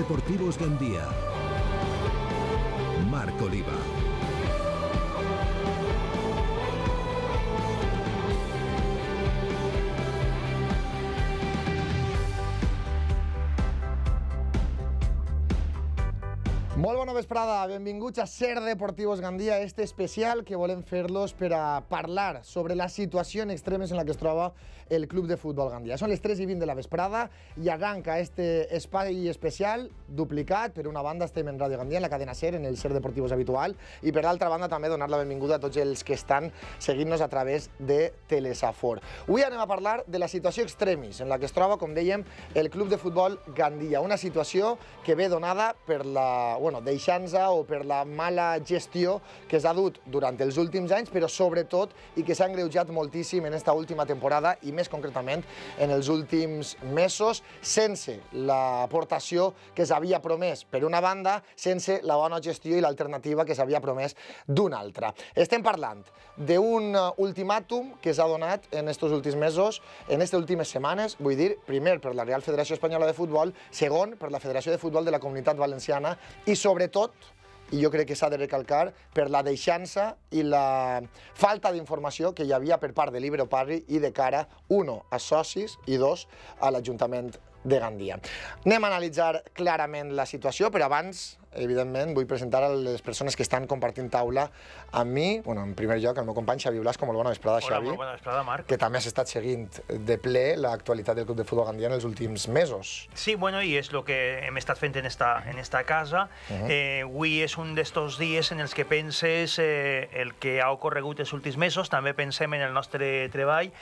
Deportivos Gandía. Marc Oliva. Molt bona vesprada, benvinguts a Ser Deportivos Gandía, este especial que volem fer-los per a parlar sobre la situació en extremes en la que es troba el Club de Futbol Gandía. Són les 3:20 de la vesprada i arranca este espai especial duplicat. Per una banda estem en Ràdio Gandía, en la cadena Ser, en el Ser Deportivos habitual, i per l'altra banda també donar la benvinguda a tots els que estan seguint-nos a través de Telesafor. Avui anem a parlar de la situació extremis en la que es troba, com dèiem, el Club de Futbol Gandía. Una situació que ve donada per la deixança o per la mala gestió que s'ha dut durant els últims anys, però sobretot i que s'ha engreujat moltíssim en esta última temporada i més concretament en els últims mesos, sense l'aportació que s'havia promès per una banda, sense la bona gestió i l'alternativa que s'havia promès d'una altra. Estem parlant d'un ultimàtum que s'ha donat en aquests últims mesos, en aquestes últimes setmanes, vull dir, primer per la Real Federació Espanyola de Futbol, segon per la Federació de Futbol de la Comunitat Valenciana i sobretot, i jo crec que s'ha de recalcar, per la deixança i la falta d'informació que hi havia per part de l'Ibero Parry i de cara, 1, a socis i 2, a l'Ajuntament de Gandia. Anem a analitzar clarament la situació, però abans, evidentment, vull presentar a les persones que estan compartint taula amb mi. En primer lloc, el meu company Xavi Blasco. Molt bona vesprada, Xavi. Hola, molt bona vesprada, Marc. Que també has estat seguint de ple l'actualitat del Club de Futbol Gandia en els últims mesos. Sí, bueno, i és el que hem estat fent en esta casa. Avui és un d'estos dies en els que penses el que ha ocorregut els últims mesos, també pensem en el nostre treball.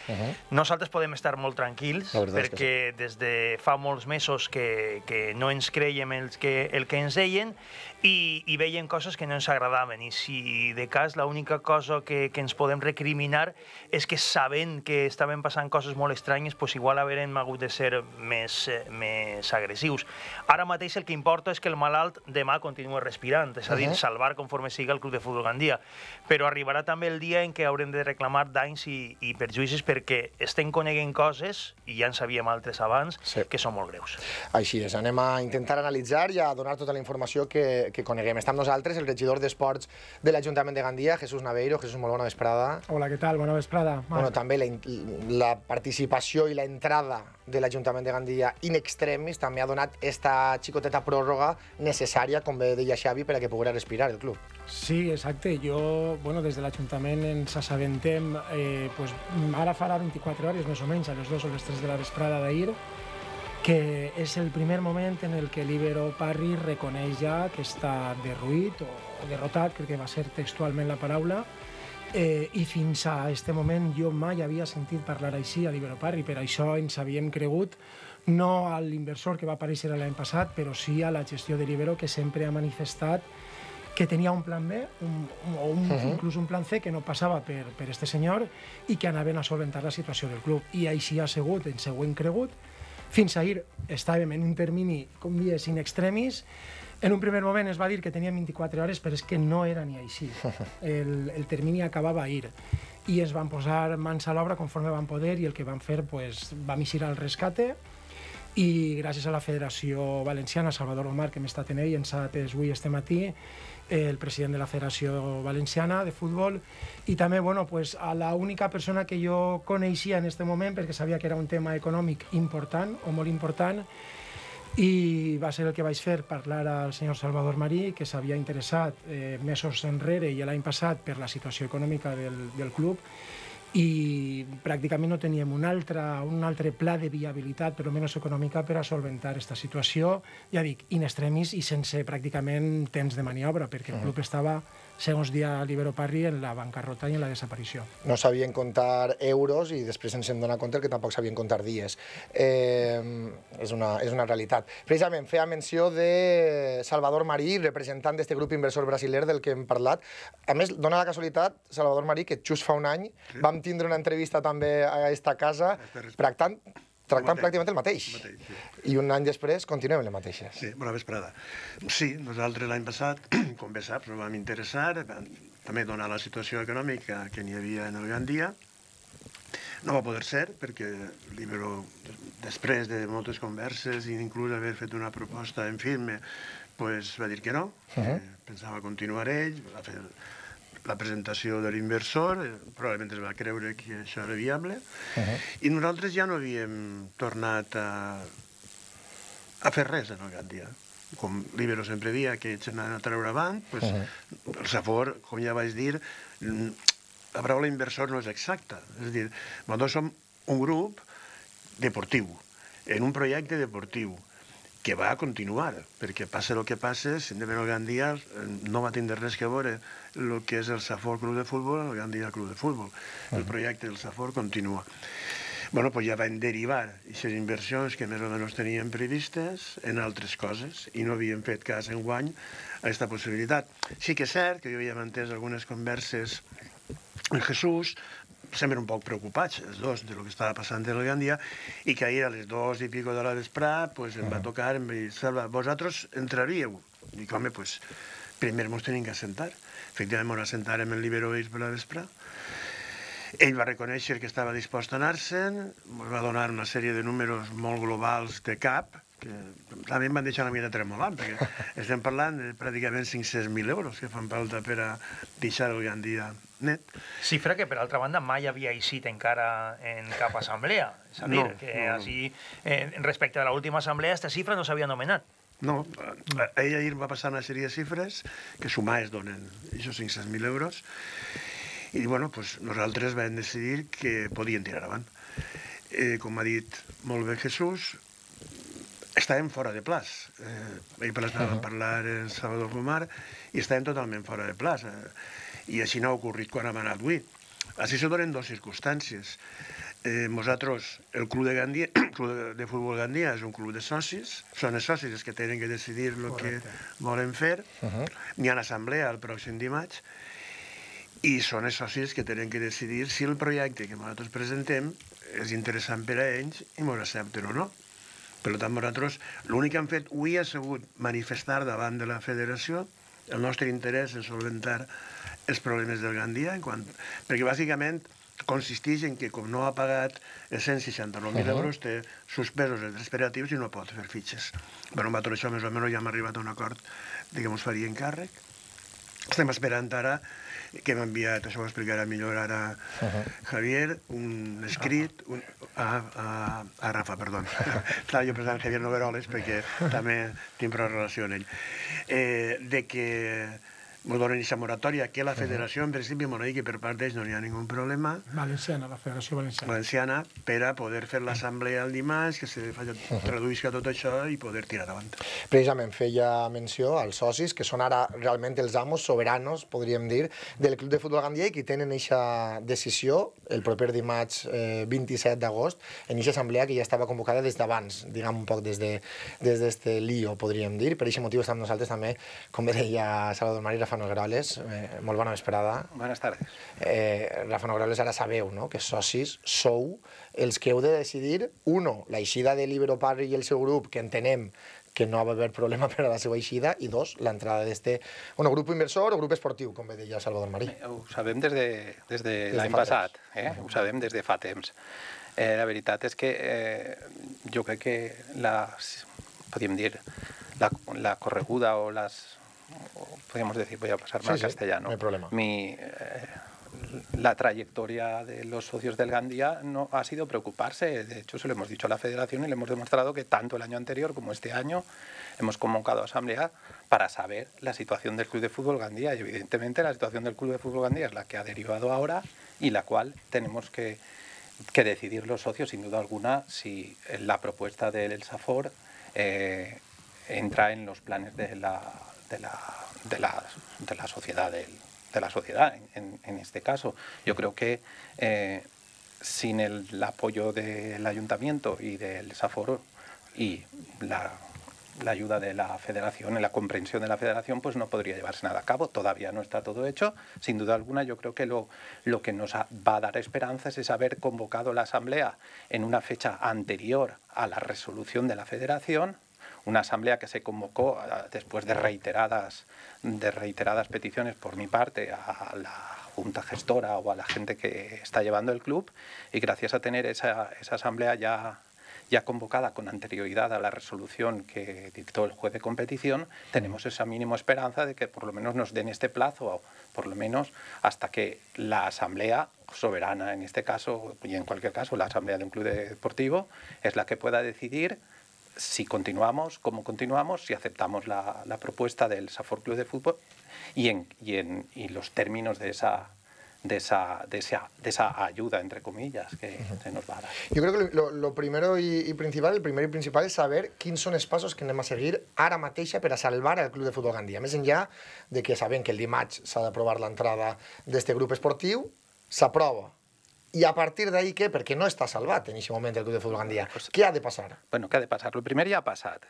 Nosaltres podem estar molt tranquils, perquè des de fa molts mesos que no ens creiem el que ens deien i veiem coses que no ens agradaven. I si de cas l'única cosa que ens podem recriminar és que sabent que estaven passant coses molt estranyes, doncs igual haurem hagut de ser més agressius. Ara mateix el que importa és que el malalt demà continua respirant, és a dir, salvar conforme siga el Club de Futbol Gandia. Però arribarà també el dia en què haurem de reclamar danys i perjuïcis perquè estem coneguent coses, i ja en sabíem altres abans, que són molt greus. Així és, anem a intentar analitzar i a donar tota la informació que coneguem. Està amb nosaltres el regidor d'Esports de l'Ajuntament de Gandia, Jesús Naveiro. Jesús, molt bona vesprada. Hola, què tal? Bona vesprada. També la participació i l'entrada de l'Ajuntament de Gandia in extremis també ha donat esta xicoteta pròrroga necessària, com bé deia Xavi, per a que poguera respirar el club. Sí, exacte. Jo, des de l'Ajuntament ens assabentem, ara farà 24 hores més o menys, a les 2 o les 3 de la vesprada d'ahir, que és el primer moment en el que l'Ibero Parry reconeix ja que està derruït o derrotat, crec que va ser textualment la paraula, i fins a aquest moment jo mai havia sentit parlar així a l'Ibero Parry. Per això ens havíem cregut, no a l'inversor que va aparèixer l'any passat, però sí a la gestió de l'Ibero, que sempre ha manifestat que tenia un plan B o inclús un plan C que no passava per este senyor i que anaven a solventar la situació del club. I així ha sigut, ens ho hem cregut. Fins ahir estàvem en un termini, com dies, in extremis. En un primer moment es va dir que teníem 24 hores, però és que no era ni així. El termini acabava ahir. I es van posar mans a l'obra conforme van poder i el que van fer, vam eixir al rescate i gràcies a la Federació Valenciana, Salvador Omar, que hem estat en ell, ens ha atès avui este matí, el president de la Federació Valenciana de Futbol, i també a l'única persona que jo coneixia en aquest moment, perquè sabia que era un tema econòmic important o molt important, i va ser el que vaig fer, parlar al senyor Salvador Marí, que s'havia interessat mesos enrere i l'any passat per la situació econòmica del club, i pràcticament no teníem un altre pla de viabilitat, però menys econòmica, per a solventar aquesta situació, ja dic, in extremis i sense pràcticament temps de maniobra, perquè el club estava, segons dia l'Ibero Parry, en la bancarrota i en la desaparició. No sabien comptar euros i després ens hem donat compte que tampoc sabien comptar dies. És una realitat. Precisament, feia menció de Salvador Marí, representant d'aquest grup inversor brasiler del que hem parlat. A més, dona la casualitat, Salvador Marí, que just fa un any vam tindre una entrevista també a aquesta casa tractant pràcticament el mateix. I un any després continuem les mateixes. Sí, bona vesprada. Sí, nosaltres l'any passat, com bé saps, ens vam interessar, també donar la situació econòmica que n'hi havia en el Gandia, No va poder ser, perquè l'Ibero, després de moltes converses i inclús haver fet una proposta en firme, pues, va dir que no, que pensava continuar ell, va fer la presentació de l'inversor, probablement es va creure que això era viable, i nosaltres ja no havíem tornat a fer res en el Gandia. Com l'Ibero sempre dia que ells anaven a treure avant, pues, el Safor, com ja vaig dir, la paraula inversor no és exacta. És a dir, nosaltres som un grup deportiu, en un projecte deportiu, que va continuar, perquè passa el que passa, simplement el Gandia no va tindre res que veure el que és el Safor Club de Futbol amb el Gandia Club de Futbol. El projecte del Safor continua. Bueno, pues ja van derivar aquestes inversions que més o menys teníem previstes en altres coses i no havíem fet cas enguany a aquesta possibilitat. Sí que és cert que jo havia mantès algunes converses amb Jesús, sempre un poc preocupats, els dos, de lo que estava passant en el Gandia, i que ahir a les 2 i pico de la vesprà pues, em va tocar, em va dir, Salva, vosaltres entraríeu? Dic, home, pues, primer ens tenim que assentar. Efectivament, ens assentàrem en l'Ibero per la vesprà. Ell va reconèixer que estava dispost a anar-se'n, ens va donar una sèrie de números molt globals de cap, que també em van deixar una mica tremolant, perquè estem parlant de pràcticament 500.000 euros que fan falta per a deixar el Gandia net. Xifra que, per altra banda, mai havia eixit encara en cap assemblea. És a dir, així, respecte a l'última assemblea, aquesta xifra no s'havia nomenat. No, ell ahir va passar una sèrie de xifres que sumades donen aquests 500.000 euros i bueno, pues, nosaltres vam decidir que podien tirar avant. Com ha dit molt bé Jesús, estàvem fora de plaç. Ahir vam parlar en Salvador Gomar i estàvem totalment fora de plaç. I així no ha ocorrit quan hem anat avui. Així se donen dues circumstàncies. Nosaltres, el Club de Gandia, el Club de Futbol Gandia és un club de socis, són els socis els que tenen que decidir el que volen fer, n'hi ha assemblea el pròxim dimarts, i són els socis que tenen que decidir si el projecte que nosaltres presentem és interessant per a ells i ens accepten o no. Per tant, nosaltres l'únic que hem fet avui ha sigut manifestar davant de la federació el nostre interès en solventar els problemes del Gandia, perquè bàsicament consisteix en que, com no ha pagat els 169.000 euros, té suspesos els operatius i no pot fer fitxes. Però amb tot això, més o menys, ja hem arribat a un acord de que ens faria encàrrec. Estem esperant ara que m'ha enviat, això ho explicarà millor ara Javier, un escrit, a Rafa, perdó. Estava jo pensant en Javier Nogueroles perquè també tinc prou relació amb ell. De que ens donen aquesta moratòria, que la federació, en principi, m'ho dit que per part d'ells no hi ha ningun problema. Valenciana, la Federació Valenciana. Valenciana, per a poder fer l'assemblea el dimarts, que se traduïsca tot això i poder tirar davant. Precisament feia menció als socis, que són ara realment els amos soberanos, podríem dir, del Club de Futbol Gandia i que tenen aquesta decisió el proper dimarts 27 d'agost en aquesta assemblea que ja estava convocada des d'abans, diguem un poc des d'este lío, podríem dir. Per aquest motiu estem nosaltres també, com deia Salvador Mar i Rafa Nogueroles, molt bona vesprada. Buenas tardes. Rafa Nogueroles, ara sabeu, no?, que socis sou els que heu de decidir, la eixida de l'Ibero Parry i el seu grup, que entenem que no va haver problema per a la seva eixida, i dos, l'entrada d'este grup inversor o grup esportiu, com bé deia Salvador Marí. Ho sabem des de l'any passat, ho sabem des de fa temps. La veritat és que jo crec que podríem dir, la correguda o podríamos decir, voy a pasarme al castellano. No hay problema. La trayectoria de los socios del Gandia no ha sido preocuparse. De hecho, se lo hemos dicho a la federación y le hemos demostrado que tanto el año anterior como este año hemos convocado a asamblea para saber la situación del Club de Fútbol Gandia. Y evidentemente la situación del Club de Fútbol Gandia es la que ha derivado ahora y la cual tenemos que decidir los socios, sin duda alguna, si la propuesta del Safor entra en los planes de la sociedad, de la sociedad en este caso. Yo creo que sin el apoyo del ayuntamiento y del Safor y la ayuda de la federación, y la comprensión de la federación, pues no podría llevarse nada a cabo. Todavía no está todo hecho. Sin duda alguna, yo creo que lo que nos va a dar esperanzas es haber convocado la asamblea en una fecha anterior a la resolución de la federación, una asamblea que se convocó después de reiteradas peticiones por mi parte a la junta gestora o a la gente que está llevando el club, y gracias a tener esa asamblea ya convocada con anterioridad a la resolución que dictó el juez de competición, tenemos esa mínima esperanza de que por lo menos nos den este plazo, o por lo menos hasta que la asamblea soberana, en este caso y en cualquier caso la asamblea de un club deportivo, es la que pueda decidir si continuamos, cómo continuamos, si aceptamos la propuesta del Safor Club de Fútbol y los términos de esa ayuda, entre comillas, que se nos va a dar. Jo crec que lo primero i principal, el primer i principal és saber quins són els passos que anem a seguir ara mateixa per a salvar el Club de Futbol Gandia. Més enllà de que sabem que el dimarts s'ha d'aprovar l'entrada d'este grup esportiu, s'aprova. I a partir d'ahí, què? Perquè no està salvat en aquest moment el Club de Futbol Gandia. Què ha de passar? Bueno, què ha de passar? El primer ja ha passat.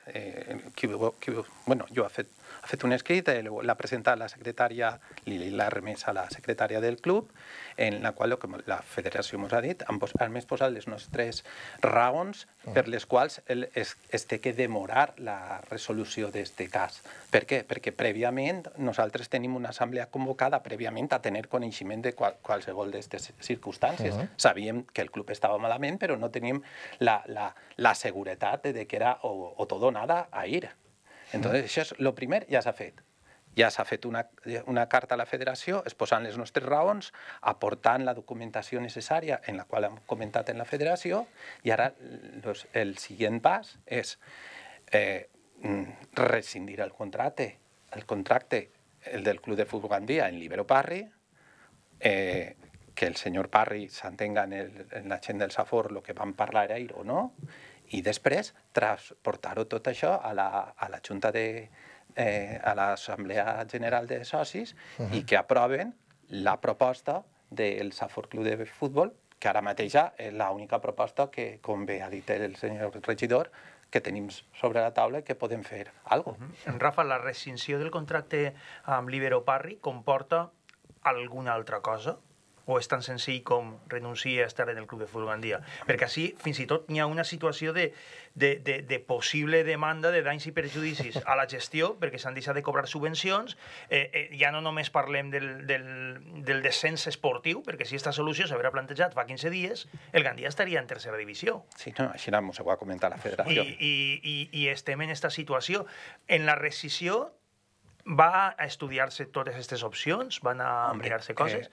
Bueno, jo he fet un escrit, l'ha presentat la secretària, l'ha remès a la secretària del club, en la qual la federació ens ha dit, han més posat les nostres raons per les quals es té que demorar la resolució d'aquest cas. Per què? Perquè prèviament nosaltres tenim una assemblea convocada prèviament a tenir coneixement de qualsevol d'aquestes circumstàncies. Sabíem que el club estava malament, però no teníem la seguretat de que era o todo o nada a ir. Entonces, això és el primer, ja s'ha fet. Ja s'ha fet una carta a la federació exposant les nostres raons, aportant la documentació necessària en la qual hem comentat en la federació, i ara el següent pas és rescindir el contracte, el del Club de Futbol Gandia en Libero Parry, que el senyor Parry s'entenga en la gent del Safor el que vam parlar ahir o no, i després transportar-ho tot això a la Junta a l'Assemblea General de Socis i que aproven la proposta del Safor Club de Futbol, que ara mateix és l'única proposta que, com bé ha dit el senyor regidor, que tenim sobre la taula i que podem fer alguna cosa. Rafa, la rescinsió del contracte amb Libero Parry comporta alguna altra cosa? O és tan senzill com renunciar a estar en el Club de Futbol Gandia? Perquè així, fins i tot, hi ha una situació de possible demanda de danys i perjudicis a la gestió, perquè s'han deixat de cobrar subvencions. Ja no només parlem del descens esportiu, perquè si aquesta solució s'haurà plantejat fa 15 dies, el Gandia estaria en tercera divisió. Sí, no, així ens ho va comentar la federació. I estem en aquesta situació. En la rescisió va a estudiar-se totes aquestes opcions? Van a mirar-se coses?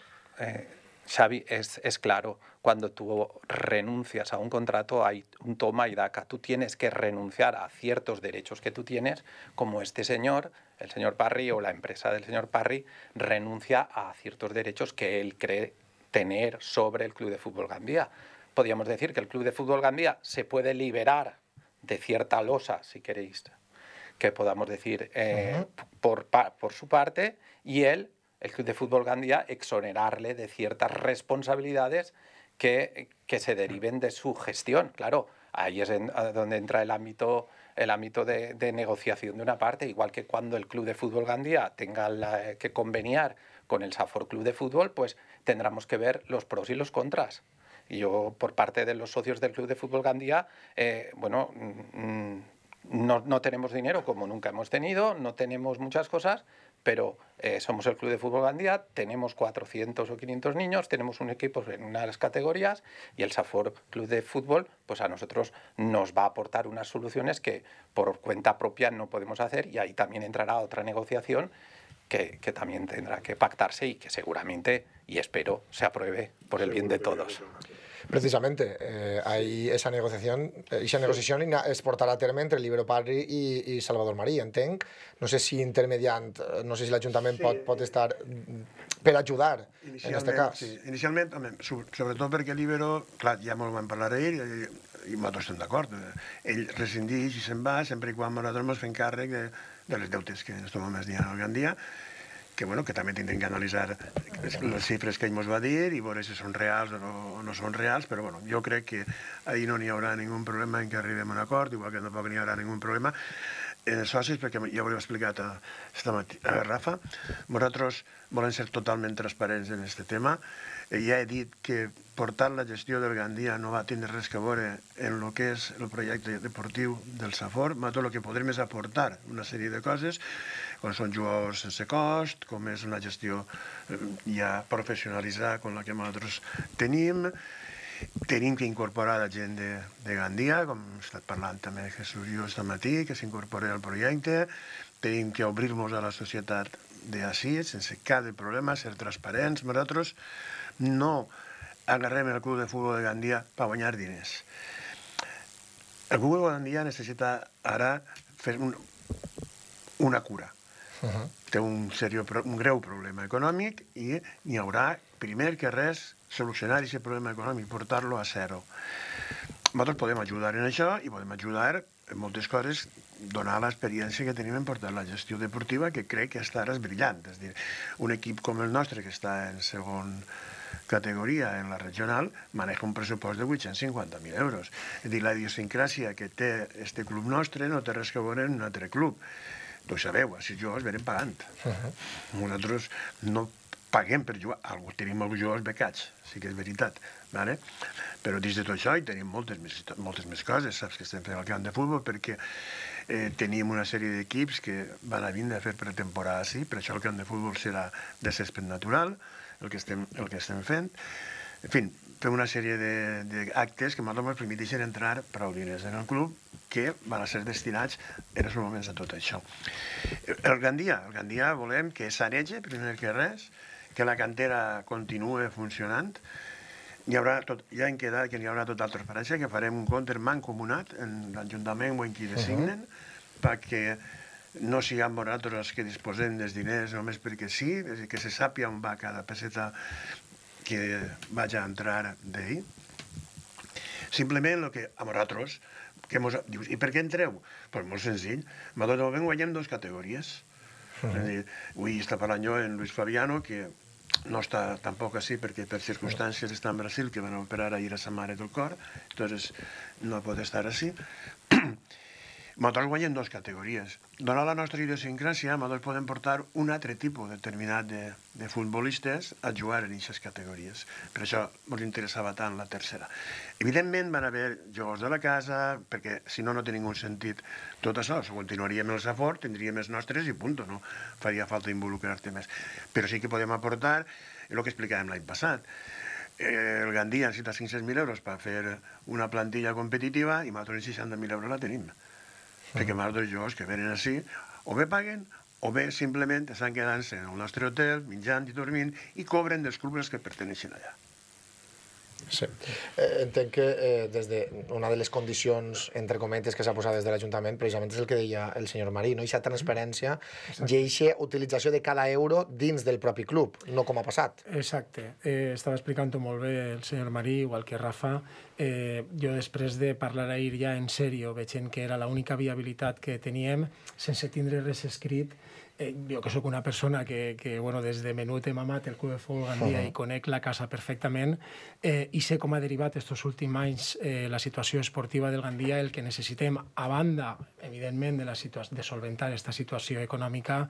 Xavi, es claro, cuando tú renuncias a un contrato hay un toma y daca. Tú tienes que renunciar a ciertos derechos que tú tienes, como este señor, el señor Parry o la empresa del señor Parry, renuncia a ciertos derechos que él cree tener sobre el Club de Fútbol Gandia. Podríamos decir que el Club de Fútbol Gandia se puede liberar de cierta losa, si queréis, que podamos decir, por su parte, y el Club de Fútbol Gandia exonerarle de ciertas responsabilidades que se deriven de su gestión. Claro, ahí es donde entra el ámbito de negociación de una parte, igual que cuando el Club de Fútbol Gandia tenga que conveniar con el Safor Club de Fútbol, pues tendremos que ver los pros y los contras. Y yo, por parte de los socios del Club de Fútbol Gandia, no tenemos dinero como nunca hemos tenido, no tenemos muchas cosas, pero somos el Club de Fútbol Gandia, tenemos 400 o 500 niños, tenemos un equipo en una de las categorías y el Safor Club de Fútbol pues a nosotros nos va a aportar unas soluciones que por cuenta propia no podemos hacer, y ahí también entrará otra negociación que también tendrá que pactarse y que seguramente, y espero, se apruebe por el bien de todos. Precisamente, hay esa negociación es portarà a terme entre Libero Parry i Salvador Marí, entenc. No sé si intermediant, no sé si l'Ajuntament pot estar per ajudar en aquest cas. Sí, inicialment, sobretot perquè Libero, clar, ja molt vam parlar ahir i nosaltres estem d'acord. Ell rescindeix i se'n va sempre i quan nosaltres ens fem càrrec de les deutes que en aquest moment es diuen al Gandia, que també tindrem que analitzar les xifres que ell ens va dir i veure si són reals o no són reals, però jo crec que ahir no n'hi haurà ningú problema en que arribem a un acord, igual que tampoc n'hi haurà ningú problema socis, perquè ja ho he explicat a Rafa, nosaltres volem ser totalment transparents en aquest tema. Ja he dit que portar la gestió del Gandia no va tindre res a veure en el que és el projecte deportiu del Safor. Tot el que podrem és aportar una sèrie de coses, com són jugadors sense cost, com és una gestió ja professionalitzada com la que nosaltres tenim. Tenim que incorporar la gent de Gandia, com he estat parlant també de Jesús i jo aquest matí, que s'incorpori al projecte. Tenim que obrir-nos a la societat d'ací, sense cap problema, ser transparents. Nosaltres no agarrem el club de futbol de Gandia per guanyar diners. El club de Gandia necessita ara fer una cura. Té un greu problema econòmic i n'hi haurà, primer que res, solucionar aquest problema econòmic, portar-lo a zero. Nosaltres podem ajudar en això i podem ajudar en moltes coses, donar l'experiència que tenim en portar la gestió deportiva, que crec que està ara és brillant. És a dir, un equip com el nostre, que està en segon categoria en la regional, maneja un pressupost de 850.000 euros. És a dir, la idiosincràsia que té este club nostre no té res a veure en un altre club. Tu sabeu, si jugadors venen pagant. Nosaltres no paguem per jugar. Tenim alguns jugadors becats, sí que és veritat. Però dins de tot això hi tenim moltes més coses. Saps que estem fent al camp de futbol perquè tenim una sèrie d'equips que van a vindre a fer pretemporada sí, per això el camp de futbol serà de césped natural, el que estem fent. En fi, fem una sèrie d'actes que ens permeteixen entrar prou diners en el club que van a ser destinats en els moments a tot això. El Gandia volem que s'anege, primer que res, que la cantera continuï funcionant. Ja hem quedat que hi haurà total transparència, que farem un compte mancomunat en l'Ajuntament o en qui designen, perquè no siguem nosaltres els que disposem dels diners només perquè sí, que se sàpiga on va cada peseta que vaig a entrar d'ahir. Simplement el que a nosaltres, dius, i per què entreu? Doncs molt senzill, nosaltres guanyem 2 categories. Avui està parlant jo en Luis Fabiano, que no està tampoc així perquè per circumstàncies està en Brasil, que van operar ahir a sa mare del cor, entonces no pot estar així. Nosaltres guanyem 2 categories. Donant la nostra idiosincràsia, nosaltres podem portar un altre tipus determinat de futbolistes a jugar en aquestes categories. Per això ens interessava tant la tercera. Evidentment van haver jugadors de la casa, perquè si no, no té ningú sentit tot això. Continuaríem el Safor, tindríem els nostres i punt, no faria falta involucrar-te més. Però sí que podem aportar el que explicàvem l'any passat. El Gandia necessita 500.000 euros per fer una plantilla competitiva i nosaltres 60.000 euros la tenim. Perquè els jugadors que venen així o bé paguen o bé simplement estan quedant-se en el nostre hotel, menjant i dormint, i cobren dels clubs que perteneixen allà. Sí. Entenc que des de una de les condicions, entre cometes, que s'ha posat des de l'Ajuntament, precisament és el que deia el senyor Marí, no? Aquesta transparència i aquesta utilització de cada euro dins del propi club, no com ha passat. Exacte. Estava explicant-ho molt bé el senyor Marí, igual que Rafa. Jo després de parlar ahir ja en sèrio, veient que era l'única viabilitat que teníem, sense tindre res escrit, jo que sóc una persona que des de menut he mamat el Club de Futbol Gandia i conec la casa perfectament i sé com ha derivat estos últims anys la situació esportiva del Gandia. El que necessitem, a banda, evidentment, de solventar aquesta situació econòmica,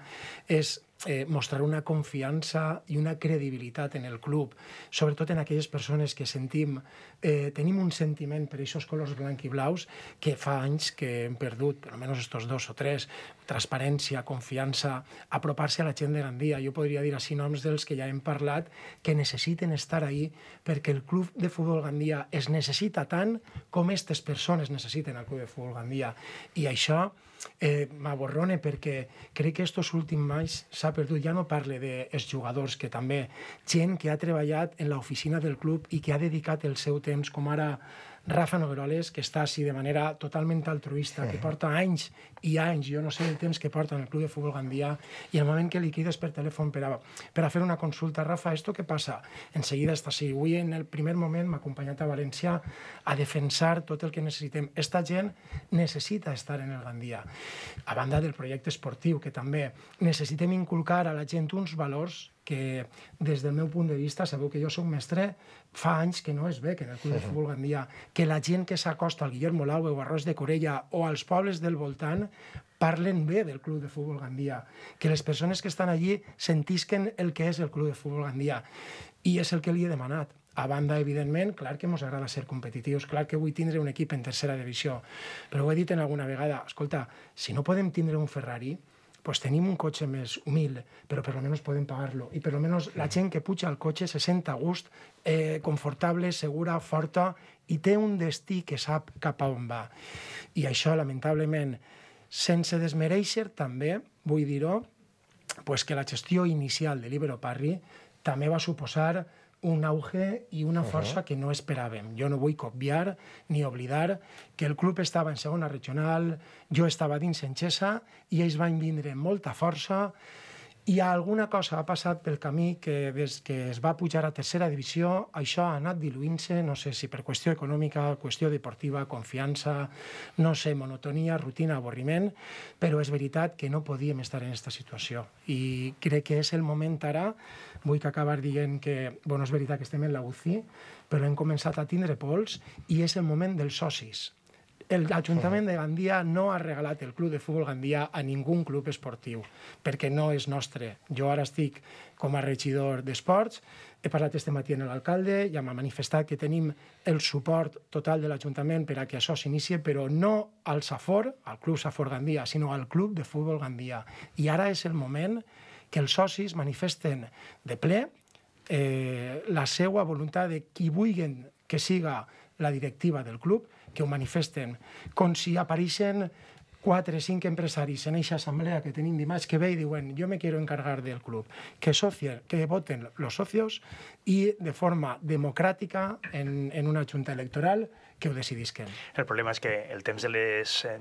és mostrar una confiança i una credibilitat en el club, sobretot en aquelles persones que tenim un sentiment per aquests colors blanc i blaus que fa anys que hem perdut, per almenys estos 2 o 3, transparència, confiança, apropar-se a la gent de Gandia. Jo podria dir així noms dels que ja hem parlat que necessiten estar ahí perquè el Club de Futbol Gandia es necessita tant com aquestes persones necessiten el Club de Futbol Gandia. I això m'aborrona perquè crec que estos últims anys s'ha perdut. Ja no parle dels jugadors, que també gent que ha treballat en l'oficina del club i que ha dedicat el seu temps, com ara Rafa Nogueroles, que està així de manera totalment altruista, que porta anys i anys, jo no sé el temps que porta en el Club de Futbol Gandia, i el moment que li crides per telèfon per a fer una consulta, Rafa, ¿esto qué pasa? Enseguida està així. Avui, en el primer moment, m'ha acompanyat a València a defensar tot el que necessitem. Esta gent necessita estar en el Gandia. A banda del projecte esportiu, que també necessitem inculcar a la gent uns valors que des del meu punt de vista, sabeu que jo soc mestre, fa anys que no es ve que en el Club de Futbol Gandia, que la gent que s'acosta al Guillermo Laue o a Ros de Corella o als pobles del voltant parlen bé del Club de Futbol Gandia, que les persones que estan allí sentisquen el que és el Club de Futbol Gandia. I és el que li he demanat. A banda, evidentment, clar que ens agrada ser competitius, clar que vull tindre un equip en tercera divisió, però ho he dit en alguna vegada, escolta, si no podem tindre un Ferrari, pues tenim un cotxe més humil, però per almenys podem pagar-lo. I per almenys la gent que puja al cotxe se sent a gust, confortable, segura, forta, i té un destí que sap cap a on va. I això, lamentablement, sense desmereixer, també, vull dir-ho, pues que la gestió inicial de l'Ibero Parry també va suposar un auge i una força que no esperàvem. Jo no vull copiar ni oblidar que el club estava en segona regional, jo estava dins en Xesa i ells van vindre amb molta força i alguna cosa ha passat pel camí que des que es va pujar a tercera divisió això ha anat diluint-se, no sé si per qüestió econòmica, qüestió deportiva, confiança, no sé, monotonia, rutina, avorriment, però és veritat que no podíem estar en aquesta situació i crec que és el moment ara. Vull acabar dient que, bueno, és veritat que estem en la UCI, però hem començat a tindre pols i és el moment dels socis. L'Ajuntament de Gandia no ha regalat el Club de Futbol Gandia a ningú club esportiu, perquè no és nostre. Jo ara estic com a regidor d'esports, he parlat este matí amb l'alcalde, ja m'ha manifestat que tenim el suport total de l'Ajuntament per a que això s'inicie, però no al Safor, al Club Safor Gandia, sinó al Club de Futbol Gandia. I ara és el moment que els socis manifesten de ple la seva voluntat de qui vulguin que siga la directiva del club, que ho manifesten, com si apareixen 4 o 5 empresaris en aquesta assemblea que tenim dimarts que ve i diuen yo me quiero encargar del club, que voten los socios i de forma democràtica en una junta electoral que ho decidisquen. El problema és que el temps de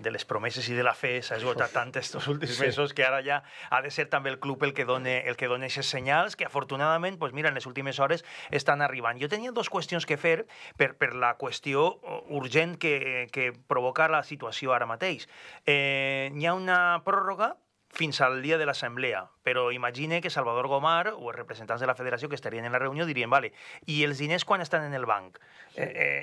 les promeses i de la fe s'ha esgotat tant estos últims mesos que ara ja ha de ser també el club el que dona aquests senyals que afortunadament, pues mira, en les últimes hores estan arribant. Jo tenia 2 qüestions que fer per la qüestió urgent que provoca la situació ara mateix. Hi ha una pròrroga fins al dia de l'assemblea, però imagine que Salvador Gomar o els representants de la federació que estarien en la reunió dirien, vale, i els diners quan estan en el banc?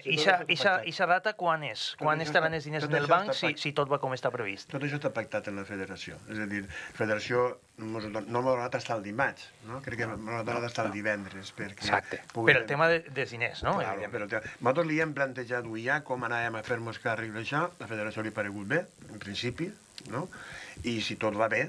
Ixa data quan és? Quan estaran els diners en el banc si tot va com està previst? Tot això està pactat en la federació. És a dir, la federació no m'ha donat estar el dimarts, no? Crec que m'ha donat estar el divendres. Exacte, per el tema dels diners, no? Claro, però nosaltres li hem plantejat ja com anàvem a fer-nos càrrec d'això, la federació li ha paregut bé, en principi, no? I si tot va bé,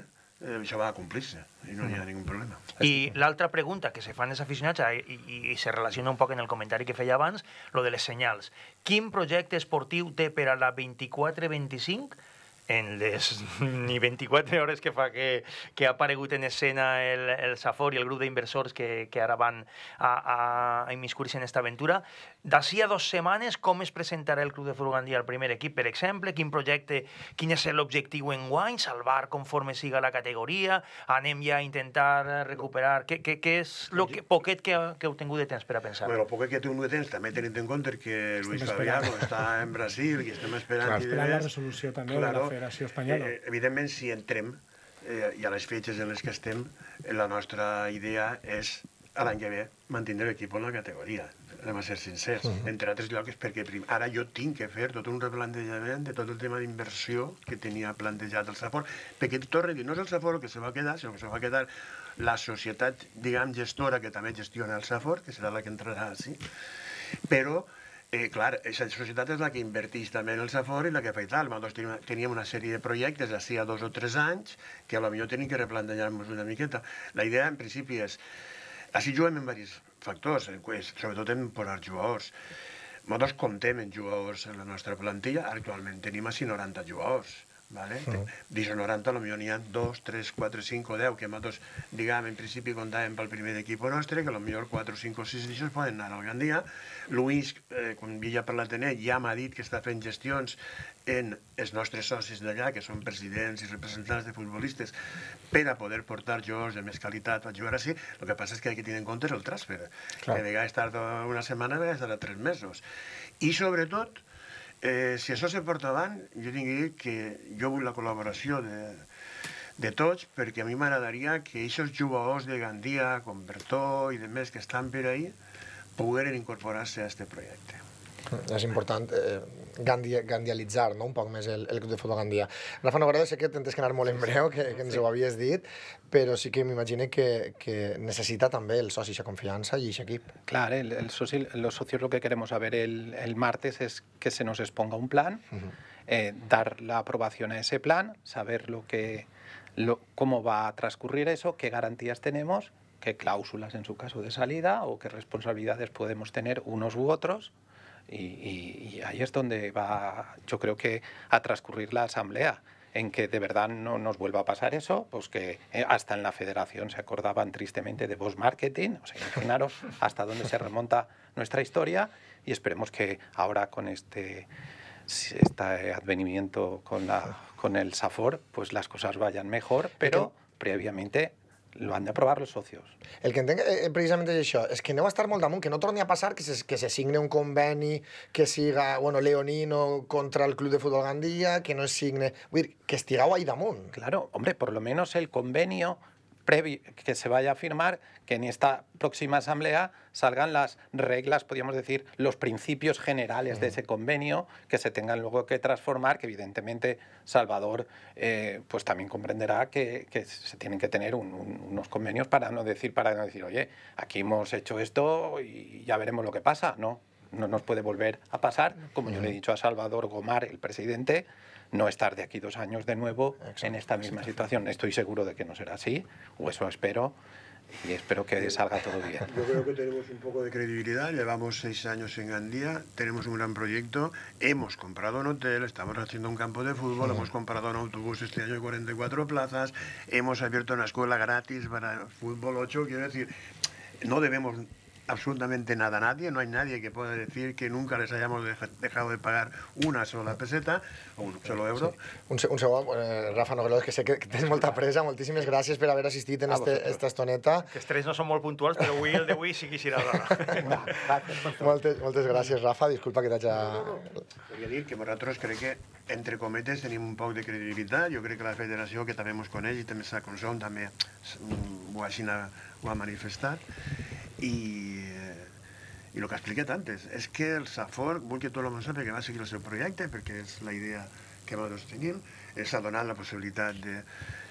això va a complir-se i no hi ha ningú problema. I l'altra pregunta que se fan els aficionats i se relaciona un poc en el comentari que feia abans, lo de les senyals. Quin projecte esportiu té per a la 24-25 en les ni 24 hores que fa que ha aparegut en escena el Safor i el grup d'inversors que ara van a immiscuir-se en aquesta aventura? D'ací a 2 setmanes, com es presentarà el Club de Futbol Gandia al primer equip, per exemple? Quin projecte, quin és l'objectiu enguany? Salvar conforme siga la categoria? Anem ja a intentar recuperar? Què és el poquet que heu tingut de temps per a pensar? Bueno, el poquet que he tingut de temps, també tenint en compte que Luis Fabiano està en Brasil i estem esperant... Esperant la resolució també de la Federació Espanyola. Evidentment, si entrem, i a les fetges en les que estem, la nostra idea és, a l'any que ve, mantindre l'equip en la categoria. Anem a ser sincers. Entre altres llocs, perquè ara jo tinc que fer tot un replantejament de tot el tema d'inversió que tenia plantejat el Safor, perquè torno a dir, no és el Safor el que se va quedar, sinó que se va quedar la societat, diguem, gestora, que també gestiona el Safor, que serà la que entrarà així, però clar, aquesta societat és la que inverteix també en el Safor i la que fa i tal. Nosaltres teníem una sèrie de projectes d'ací a 2 o 3 anys que potser tenim que replantejar-nos una miqueta. La idea, en principi, és... Així juguem en diversos factors, sobretot en posar jugadors. Nosaltres comptem en jugadors en la nostra plantilla, actualment tenim així 90 jugadors. D'això 90 potser n'hi ha 2, 3, 4, 5 o 10 que nosaltres, diguem, en principi comptàvem pel primer equip nostre, que potser 4, 5 o 6 d'això poden anar al Gandia. Luis, com ja parlat en ell, ja m'ha dit que està fent gestions en els nostres socis d'allà, que són presidents i representants de futbolistes, per a poder portar jugadors de més qualitat a jugar així. El que passa és que hay que tenir en compte el transfer, que a vegades tarda una setmana, a vegades tarda 3 mesos. I sobretot, si això se porta avant, jo tinc que dir que jo vull la col·laboració de tots, perquè a mi m'agradaria que aquests jugadors de Gandia, com Bertó i demés que estan per ahí, pogueren incorporar-se a aquest projecte. És important gandialitzar, no?, un poc més el Club de Futbol Gandia. Rafa Nogueira, sé que tens que anar molt en breu, que ens ho havies dit, però sí que m'imagino que necessita també el soci esa confianza y ese equip. Claro, los socios lo que queremos saber el martes es que se nos exponga un plan, dar la aprobación a ese plan, saber cómo va a transcurrir eso, qué garantías tenemos, qué cláusulas en su caso de salida o qué responsabilidades podemos tener unos u otros. Y ahí es donde va, yo creo que, a transcurrir la asamblea, en que de verdad no nos vuelva a pasar eso, pues que hasta en la federación se acordaban tristemente de Bosch Marketing, o sea, imaginaros hasta dónde se remonta nuestra historia, y esperemos que ahora con este advenimiento con el SAFOR, pues las cosas vayan mejor, pero previamente lo han de aprobar los socios. El que entenc precisament és això, és que aneu a estar molt damunt, que no torni a passar que se signe un conveni que siga, bueno, leonino contra el Club de Futbol Gandia, que no es signe... Vull dir, que estigueu ahí damunt. Claro, hombre, por lo menos el convenio previo que se vaya a firmar, que en esta próxima asamblea salgan las reglas, podríamos decir, los principios generales de ese convenio, que se tengan luego que transformar, que evidentemente Salvador pues también comprenderá que se tienen que tener unos convenios para no decir, oye, aquí hemos hecho esto y ya veremos lo que pasa. No nos puede volver a pasar, como yo le he dicho a Salvador Gomar, el presidente, no estar de aquí 2 años de nuevo en esta misma situación. Estoy seguro de que no será así, o eso espero, y espero que salga todo bien. Yo creo que tenemos un poco de credibilidad, llevamos 6 años en Gandía, tenemos un gran proyecto, hemos comprado un hotel, estamos haciendo un campo de fútbol, hemos comprado un autobús este año de 44 plazas, hemos abierto una escuela gratis para fútbol 8, quiero decir, no debemos absolutamente nada a nadie, no hay nadie que pueda decir que nunca les hayamos dejado de pagar una sola peseta o un solo euro. Sí. Un segon, Rafa Nogueira, que sé que tens molta pressa, moltíssimes gràcies per haver assistit en esta estoneta. Que els tres no són molt puntuals, però avui el d'avui sí que serà d'hora. Moltes gràcies, Rafa, disculpa que t'haig... Volia dir que nosaltres crec que, entre cometes, tenim un poc de credibilitat. Jo crec que la federació, que també ens coneix, i també s'ha consum, també ho ha manifestat. I el que he explicat antes és que el SAFOR vol que tot el món sàpiga que va seguir el seu projecte, perquè és la idea que nosaltres tenim, s'ha donat la possibilitat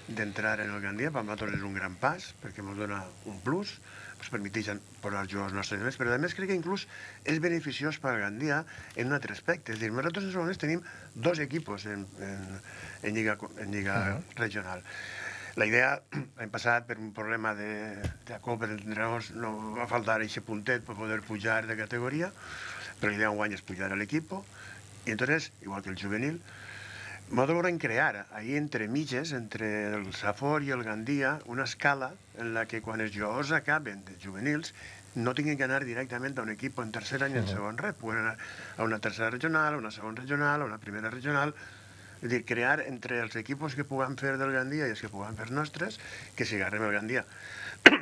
d'entrar en el Gandia, per nosaltres és un gran pas, perquè ens dona un plus, ens permeteix posar jugadors nostres més, però a més crec que inclús és beneficiós per al Gandia en un altre aspecte. És a dir, nosaltres en moments tenim 2 equipos en lliga regional. La idea, l'any passat, per un problema de copa d'entrenadors, no va faltar aquest puntet per poder pujar de categoria, però l'idea enguany és pujar a l'equip, i entonces, igual que el juvenil, nosaltres volem crear ahí entre mitges, entre el SAFOR i el Gandia, una escala en la que quan els jugadors acaben de juvenils no tinguin que anar directament a un equip en tercer any i en segon res, poden anar a una tercera regional, a una segona regional, a una primera regional. És a dir, crear entre els equips que puguem fer del Gandia i els que puguem fer nostres, que si agarrem el Gandia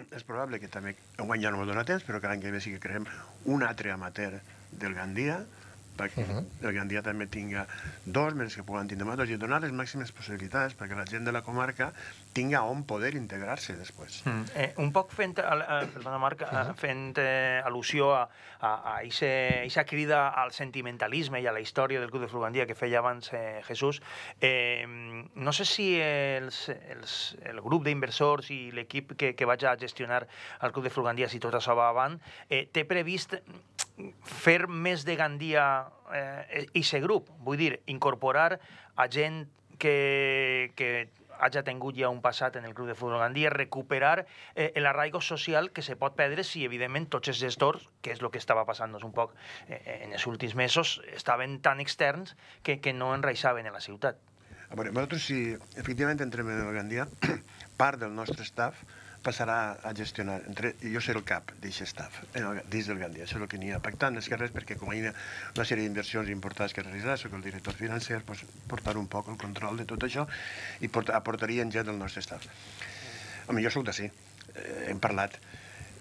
és probable que també enguany ja no m'ho dona temps, però que l'any que ve sí que creem un altre amateur del Gandia, perquè el Gandia també tinga 2, menys que puguen tindre nosaltres, i donar les màximes possibilitats perquè la gent de la comarca tinga on poder integrar-se després. Un poc fent, perdona Marc, fent al·lusió a aquesta crida al sentimentalisme i a la història del Club de Futbol Gandia que feia abans Jesús, no sé si el grup d'inversors i l'equip que vaig a gestionar al Club de Futbol Gandia, si tot això va avant, té previst fer més de Gandia aquest grup, vull dir, incorporar a gent que hagi tingut ja un passat en el Club de Futbol Gandia, recuperar l'arraigo social que se pot perdre si, evidentment, tots els gestors, que és el que estava passant un poc en els últims mesos, estaven tan externs que no enraixaven en la ciutat. A veure, nosaltres, si efectivament entrem en el Gandia, part del nostre staff passarà a gestionar, jo seré el cap d'aquest staff, dins del Gandia, això és el que n'hi ha pactat, més que res, perquè com hi ha una sèrie d'inversions importants que realitzar, soc el director financer, portar un poc el control de tot això i aportaria gent del nostre staff. Home, jo soc d'ací, hem parlat,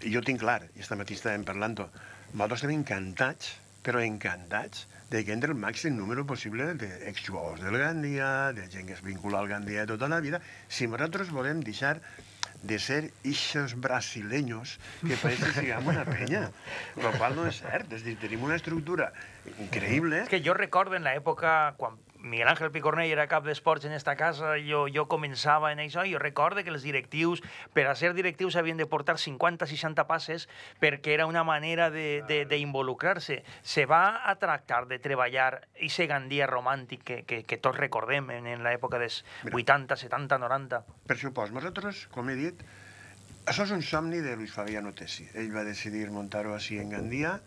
jo tinc clar, i esta matí estàvem parlant-ho, nosaltres estem encantats però encantats de que entre el màxim número possible d'exjugadors del Gandia, de gent que es vincula al Gandia de tota la vida, si nosaltres volem deixar de ser ixos brasileños que parece que siguem una penya, lo qual no és cert, és dir, tenim una estructura increïble. És que jo recordo en l'època, quan Miguel Ángel Picornell era cap d'esports en esta casa, jo començava en això, i jo recordo que els directius, per a ser directius, havien de portar 50-60 passes perquè era una manera d'involucrar-se. Se va a tractar de treballar aquest Gandia romàntic que tots recordem en l'època dels 80, 70, 90. Per supost, nosaltres, com he dit, això és un somni de Luis Fabiano Tessi. Ell va decidir muntar-ho així en Gandia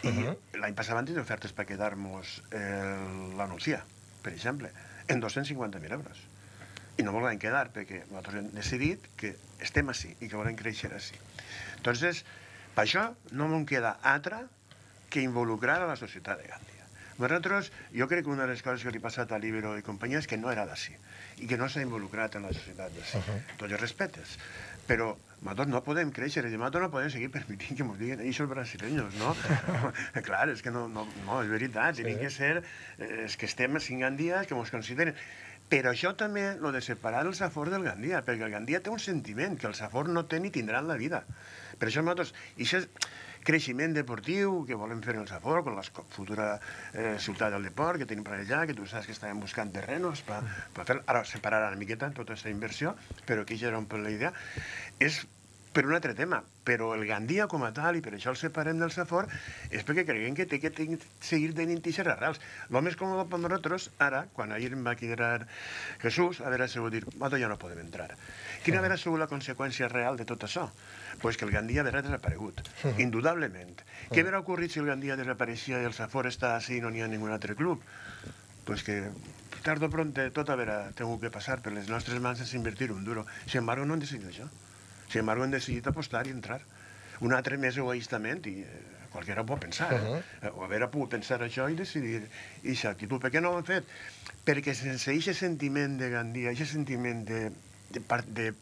i l'any passat van tenir ofertes per quedar-nos la Nucía, per exemple, en 250.000 euros. I no volen quedar perquè nosaltres hem decidit que estem així i que volem créixer així. Entonces, per això no m'en queda altra que involucrar a la societat de Gandia. Nosaltres, jo crec que una de les coses que li ha passat a l'Ibero i companyia és que no era d'ací i que no s'ha involucrat en la societat d'ací. Tots els respetes. Però nosaltres no podem créixer, nosaltres no podem seguir permitint que ens diguin eixos brasileños, no? Clar, és que no, és veritat, tenim que ser, és que estem a 5 Gandies que ens consideren. Però això també, lo de separar el Safor del Gandia, perquè el Gandia té un sentiment que el Safor no té ni tindrà en la vida. Per això nosaltres, aquest creixement deportiu que volem fer en el Safor, con la futura ciutat del deport que tenim per allà, que tu saps que estàvem buscant terrenos per fer, ara separar una miqueta tota aquesta inversió, però que ja era un poc la idea, és per un altre tema, però el Gandia com a tal, i per això el separem del Safor, és perquè creiem que té que seguir tenint aquestes arrels. El més còmode per nosaltres, ara, quan ahir em va quedar Jesús, haver sigut dir, nosaltres ja no podem entrar. Quina haver sigut la conseqüència real de tot això? Pues que el Gandia haurà desaparegut, indudablement. Què haurà ocorrit si el Gandia desapareixia i el Safor està així i no n'hi ha ningun altre club? Pues que tard o pront tot haurà tingut que passar per les nostres mans sense invertir un duro. Sin embargo, no hem decidit això. Sin embargo, hem decidit apostar i entrar. Un altre més egoístament, i qualsevol pot pensar, o haver pogut pensar això i decidir aquesta actitud. Per què no ho hem fet? Perquè sense aquest sentiment de Gandia, aquest sentiment de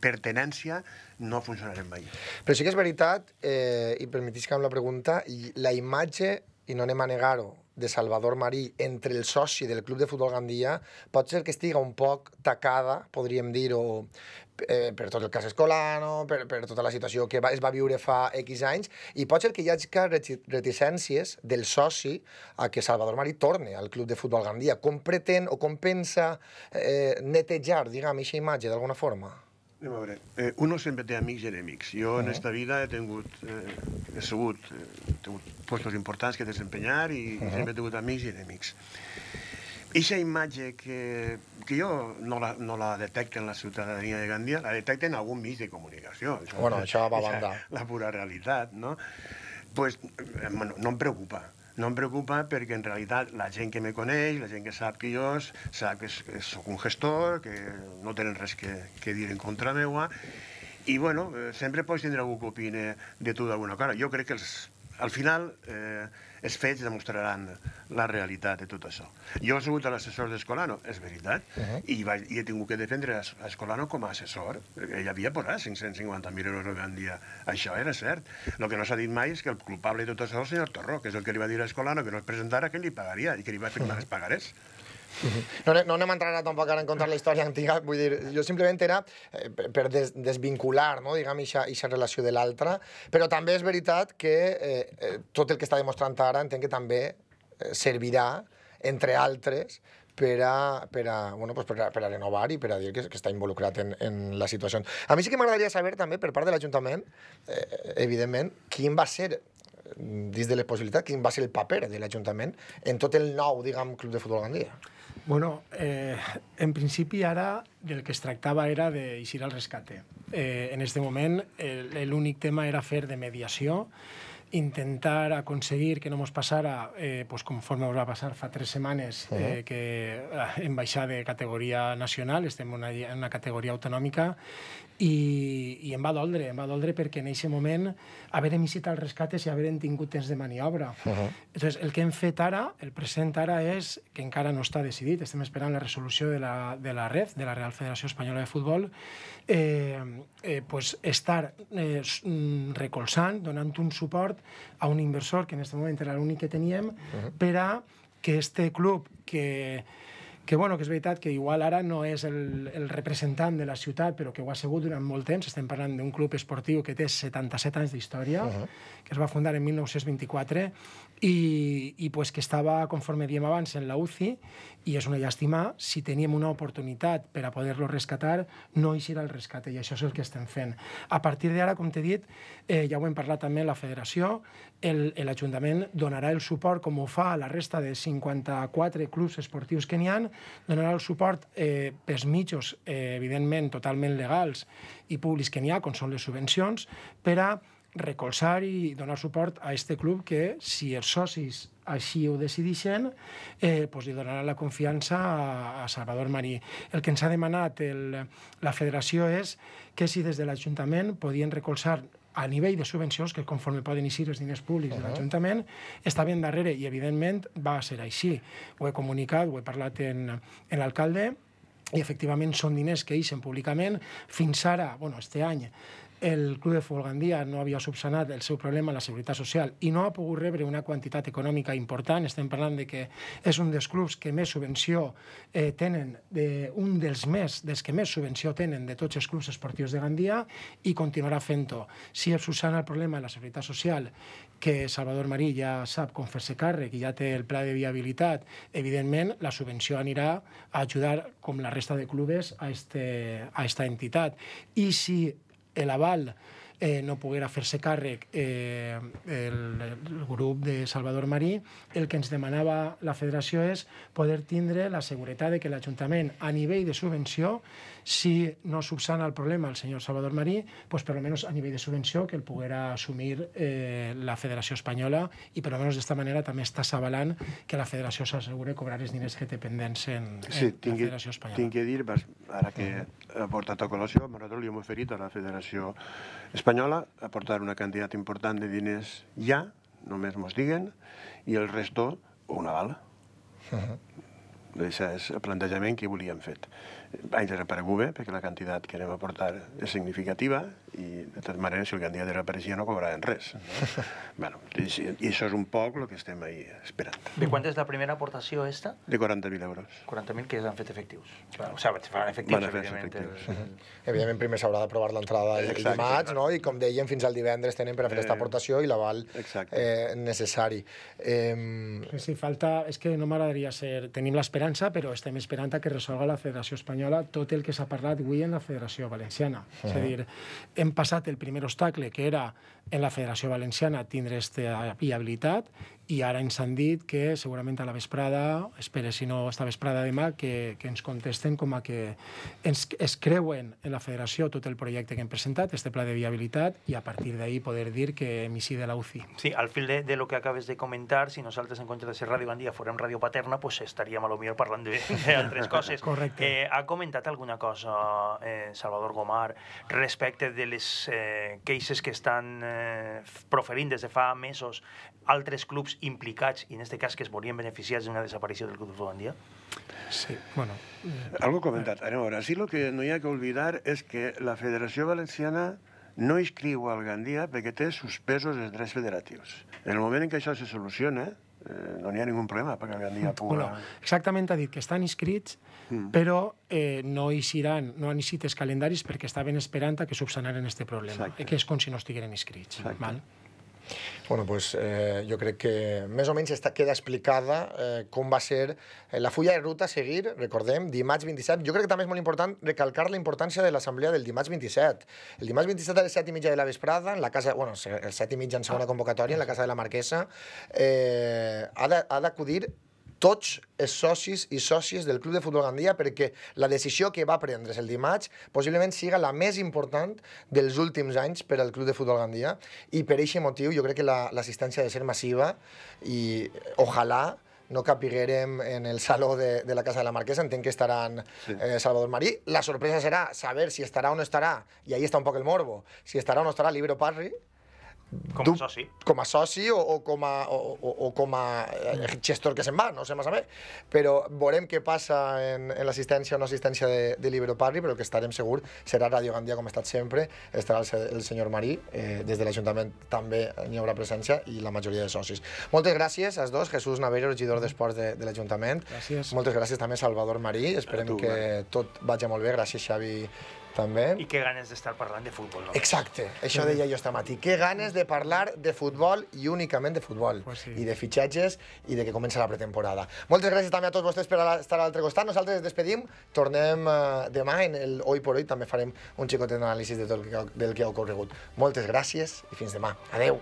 pertenència, no funcionarem mai. Però sí que és veritat, i permetís que amb la pregunta, la imatge, i no anem a negar-ho, de Salvador Marí entre el soci del Club de Futbol Gandia pot ser que estiga un poc tacada, podríem dir-ho, per tot el cas Escolano, per tota la situació que es va viure fa X anys, i pot ser que hi hagi reticències del soci a que Salvador Marí torni al Club de Futbol Gandia. Com pretén o com pensa netejar, diguem, aquesta imatge d'alguna forma? Anem a veure, uno sempre té amics i enemics. Jo en esta vida he tingut puestos importants que desempenyar i sempre he tingut amics i enemics. Eixa imatge que jo no la detecto en la ciutadania de Gandia, la detecto en algun mig de comunicació. Bueno, això va a banda. La pura realitat, no? Pues no em preocupa. No em preocupa perquè en realitat la gent que me coneix, la gent que sap que jo sap que soc un gestor, que no tenen res que dir en contra meua, i bueno, sempre pots tindre algú que opine de tu d'alguna cosa. Jo crec que al final els fets demostraran la realitat de tot això. Jo he sigut l'assessor d'Escolano, és veritat, i he tingut que defendre Escolano com a assessor. Ell havia posat 550.000 euros a Gandia. Això era cert. El que no s'ha dit mai és que el culpable de tot això és el senyor Torró, que és el que li va dir a Escolano que no es presentara, que li pagaria i que li va firmar els pagarés. No anem a entrar ara tampoc ara en contar la història antiga, vull dir, jo simplement era per desvincular, no, diguem, aquesta relació de l'altra, però també és veritat que tot el que està demostrant ara entenc que també servirà, entre altres, per a renovar i per a dir que està involucrat en la situació. A mi sí que m'agradaria saber també, per part de l'Ajuntament, evidentment, quin va ser, dins de les possibilitats, quin va ser el paper de l'Ajuntament en tot el nou, diguem, Club de Futbol Gandia. Bueno, en principi ara del que es tractava era d'eixir al rescate. En aquest moment l'únic tema era fer de mediació, intentar aconseguir que no ens passara, conforme ens va passar fa 3 setmanes, que hem baixat de categoria nacional, estem en una categoria autonòmica, i em va doldre perquè en aquest moment haver emisit el rescate i haver tingut temps de maniobra. Entonces, el que hem fet ara, el present ara, és que encara no està decidit, estem esperant la resolució de la REF, de la Real Federació Espanyola de Futbol, estar recolzant, donant un suport a un inversor, que en aquest moment era l'únic que teníem, per a que este club, que és veritat que igual ara no és el representant de la ciutat, però que ho ha sigut durant molt temps. Estem parlant d'un club esportiu que té 77 anys d'història, que es va fundar en 1924 i pues, que estava, conforme diem abans, en la UCI, i és una llàstima. Si teníem una oportunitat per a poder-lo rescatar, no eixirà el rescate, i això és el que estem fent. A partir d'ara, com t'he dit, ja ho hem parlat també amb la federació, l'Ajuntament donarà el suport, com ho fa a la resta de 54 clubs esportius que n'hi ha, donarà el suport pels mitjos, evidentment, totalment legals i públics que n'hi ha, com són les subvencions, per a recolzar i donar suport a aquest club que, si els socis així ho decideixen, doncs li donaran la confiança a Salvador Marí. El que ens ha demanat la federació és que si des de l'Ajuntament podien recolzar a nivell de subvencions, que conforme poden eixir els diners públics de l'Ajuntament, està ben darrere, i evidentment va ser així. Ho he comunicat, ho he parlat amb l'alcalde, i efectivament són diners que eixen públicament. Fins ara, este any, el Club de Futbol Gandia no havia subsanat el seu problema a la Seguretat Social i no ha pogut rebre una quantitat econòmica important. Estem parlant de que és un dels clubs que més subvenció tenen, un dels que més subvenció tenen de tots els clubs esportius de Gandia, i continuarà fent-ho. Si es subsana el problema de la Seguretat Social, que Salvador Marí ja sap com fer-se càrrec i ja té el pla de viabilitat, evidentment la subvenció anirà a ajudar, com la resta de clubes, a esta entitat. I si l'aval no poguera fer-se càrrec el grup de Salvador Marí, el que ens demanava la federació és poder tindre la seguretat de que l'Ajuntament, a nivell de subvenció, si no subsana el problema el senyor Salvador Marí, doncs per almenys a nivell de subvenció que el poguera assumir la Federació Espanyola, i per almenys d'esta manera també estàs avalant que la federació s'assegure cobrar els diners que té pendents en la Federació Espanyola. Tinc que dir, ara que ha portat a col·lació, nosaltres li hem oferit a la Federació Espanyola aportar una quantitat important de diners ja, només mos diguen, i el resto una bala. Això és el plantejament que volíem fet. Ha desaparegut bé, perquè la quantitat que anem a aportar és significativa, i de totes maneres, si el Gandia desapareixia no cobraven res. I això és un poc el que estem ahí esperant. De quant és la primera aportació esta? De 40.000 euros. 40.000 que s'han fet efectius. O sigui, se faran efectius, evidentment. Evidentment, primer s'haurà d'aprovar l'entrada el dimarts, no? I com dèiem, fins al divendres tenen per a fer aquesta aportació i l'aval necessari. Sí, falta... És que no m'agradaria ser... Tenim l'esperança, però estem esperant que resolga la Federació Espanyola tot el que s'ha parlat avui en la Federació Valenciana. És a dir, hem passat el primer obstacle, que era en la Federació Valenciana tindre aquesta viabilitat, i ara ens han dit que segurament a la vesprada, espere si no esta vesprada demà, que ens contesten com a que es creuen en la federació tot el projecte que hem presentat, este pla de viabilitat, i a partir d'ahí poder dir que hem eixit de la UCI. Sí, al fil de lo que acabes de comentar, si nosaltres en comptes de ser Ràdio Gandia fórem Ràdio Paterna, pues estaríem a lo millor parlant d'altres coses. Correcte. Ha comentat alguna cosa Salvador Gomar respecte de les queixes que estan proferint des de fa mesos altres clubs implicats, i en aquest cas que es veurien beneficiats d'una desaparició del Club de Futbol Gandia? Sí, bueno... Algo comentat. A veure, sí, el que no hi ha que oblidar és que la Federació Valenciana no inscriu al Gandia perquè té suspesos els drets federatius. En el moment en què això se soluciona, no hi ha ningú problema perquè el Gandia pugui... Exactament, ha dit que estan inscrits, però no eixiran, no han eixit els calendaris perquè estaven esperant que subsanaren aquest problema, que és com si no estigueren inscrits. Bueno, pues jo crec que més o menys queda explicada com va ser la fulla de ruta a seguir, recordem, dimarts 27. Jo crec que també és molt important recalcar la importància de l'assemblea del dimarts 27. El dimarts 27 a les 7:30 de la vesprada, en la casa, bueno, el 7:30 en segona convocatòria, en la casa de la Marquesa, ha d'acudir tots els socis i sòcies del Club de Futbol Gandia, perquè la decisió que va prendre's el dimarts possiblement siga la més important dels últims anys per al Club de Futbol Gandia, i per aquest motiu jo crec que l'assistència ha de ser massiva, i ojalà no capiguérem en el saló de la Casa de la Marquesa. Entenc que estaran Salvador Marí. La sorpresa serà saber si estarà o no estarà, i ahí està un poc el morbo, si estarà o no estarà Libero Parri, Com a soci. Com a soci o com a gestor que se'n va, no sé massa bé. Però veurem què passa en l'assistència o no assistència de Libero Parri, però el que estarem segur serà Ràdio Gandia, com ha estat sempre, estarà el senyor Marí, des de l'Ajuntament també n'hi haurà presència i la majoria de socis. Moltes gràcies als dos, Jesús Navero, regidor d'Esports de l'Ajuntament. Gràcies. Moltes gràcies també Salvador Marí, esperem que tot vagi molt bé, gràcies Xavi també. I que ganes d'estar parlant de futbol. No? Exacte, això deia jo esta matí. Que ganes de parlar de futbol i únicament de futbol. Pues sí. I de fitxatges i de que comença la pretemporada. Moltes gràcies també a tots vostès per estar a l'altre costat. Nosaltres ens despedim. Tornem demà en el Hoy por Hoy. També farem un xicotet d'anàlisi del que ha ocorregut. Moltes gràcies i fins demà. Adeu.